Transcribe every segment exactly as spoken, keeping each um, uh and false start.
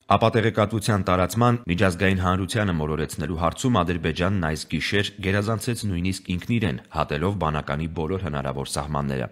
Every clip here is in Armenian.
Ապատեղեկատվության տարածման միջազգային հանրությանը մոլորեցնելու հարցում Ադրբեջանն այս գիշեր գերազանցեց նույնիսկ ինքն իրեն, հատելով բանականի բոլոր հնարավոր սահմանները։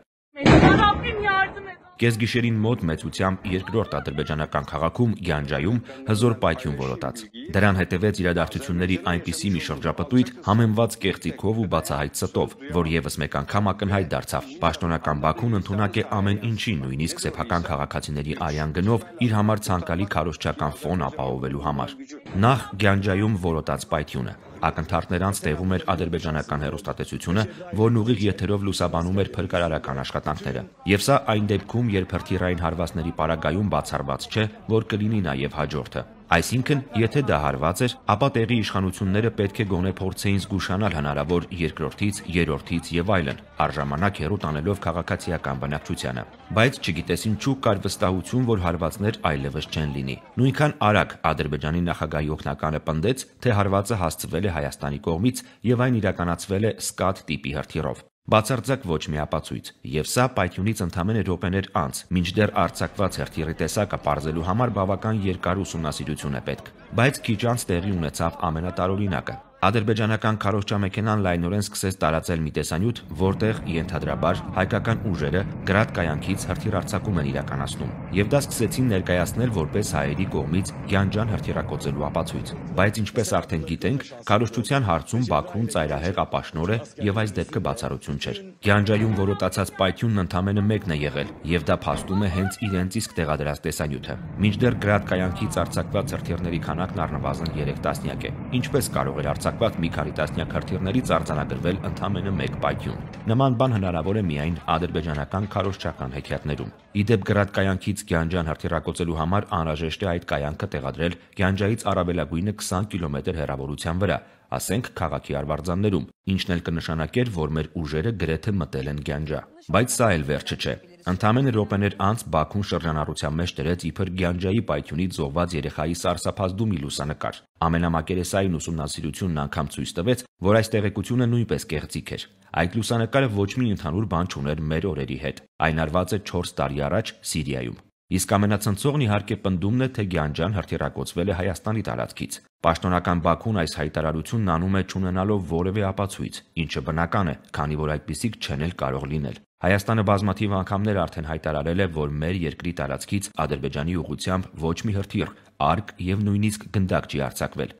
Կեսգիշերին մոտ մեծությամբ երկրորդ ադրբեջանական քաղաքում Գյանջայում հզոր պայթյուն որոտաց։ Դրան հետևեց իրադարձությունների այնպիսի մի շրջապտույտ համեմված կեղծիքով ու բացահայտ ստով, որ եւս մեկ անգամ ակնհայտ դարձավ։ Պաշտոնական Բաքուն ընդունակ է ամեն ինչին, նույնիսկ սեփական քաղաքացիների արյան գնով իր համար ցանկալի քարոզչական ֆոն ապահովելու համար։ Նախ Գյանջայում որոտաց պայթյունը։ Ակնթարթներ անց տեղում էր ադրբեջանական հեռուստատեսությունը, որն ուղիղ եթերով լուսաբանում էր փրկարարական աշխատանքները։ Եվ սա այն դեպքում, երբ հրթիռային հարվածների պարագայում բացառված չէ, որ կլինի նաև հաջորդը։ Այսինքն, եթե դա հարված էր, ապա տեղի իշխանությունները պետք է գոնե փորձեին զգուշանալ հնարավոր երկրորդից, երրորդից եւ այլն, առժամանակ հեռու տանելով քաղաքացիական բնակչությանը։ Բայց չգիտես ինչու կար վստահություն, որ հարվածներ այլևս չեն լինի։ Նույնքան արագ Ադրբեջանի նախագահի օգնականը պնդեց, թե հարվածը հասցվել է Հայաստանի կողմից եւ այն իրականացվել է սկադ տիպի հրթիռով։ Բացարձակ ոչ մի ապացույց, եւ սա պայթյունից ընդամենը րոպեներ անց, մինչդեռ արձակված հրթիռի տեսակը պարզելու համար բավական երկար ուսումնասիրություն է պետք։ Բայց քիչ անց տեղի ունեցավ ամենատարօրինակը։ Ադրբեջանական քարոզչամեքենան լայնորեն սկսեց տարածել մի տեսանյութ, որտեղ ենթադրաբար հայկական ուժերը գրադ կայանքից հրթիռ-արձակում են իրականացնում, եւ դա սկսեցին ներկայացնել որպես հայերի կողմից Գյանջան հրթիռակոծելու ապացույց։ Բայց ինչպես արդեն գիտենք, քարոզչության հարցում Բաքուն ծայրահեղ ապաշնոր է եւ այս դեպքը բացառություն չէր։ Գյանջայում որոտացած պայթյունն ընդամենը մեկն է եղել, եւ դա փաստում է հենց իրենց իսկ տեղադրած տեսանյութը։ Մինչդեռ գրադ կայանքից արձակված հրթիռների քանակն առնվազն երեք տասնյակ է։ Ինչպես կարող էր արձակված մի քանի տասնյակ հրթիռներից արձանագրվել ընդամենը մեկ պայթյուն։ Նման բան հնարավոր է միայն ադրբեջանական քարոզչական հեքիաթներում։ Իդեպ գրադ կայանքից Գյանջան հրթիռակոծելու համար անհրաժեշտ է այդ կայանքը տեղադրել Գյանջայից առավելագույնը քսան կիլոմետր հեռավորության վրա, ասենք քաղաքի արվարձաններում, ինչն էլ կնշանակեր, որ մեր ուժերը գրեթե մտել են Գյանջա։ Բայց սա էլ վերջը չէ։ Ընդամենը րոպեներ անց Բաքուն շրջանառության մեջ դրեց իբր Գյանջայի պայթյունից զոհված երեխայի սարսափազդու մի լուսանկար։ Ամենամակերեսային ուսումնասիրությունն անգամ ցույց տվեց, որ այս տեղեկությունը նույնպես կեղծիք էր։ Այդ լուսանկարը ոչ մի ընդհանուր բան չուներ մեր օրերի հետ։ Այն արված է չորս տարի առաջ Սիրիայում։ Իսկ ամենացնցողն իհարկե պնդումն է, թե Գյանջան հրթիռակոծվել է Հայաստանի տարածքից։ Պաշտոնական Բաքուն այս հայտարարությունն անում է չունենալով որևէ ապացույց, ինչը բնական է, քանի որ այդպիսիք չեն էլ կարող լինել։ Հայաստանը բազմաթիվ անգամներ արդեն հայտարարել է, որ մեր երկրի տարածքից Ադրբեջանի ուղղությամբ ոչ մի հրթիռ, արկ եւ նույնիսկ գնդակ չի արձակվել։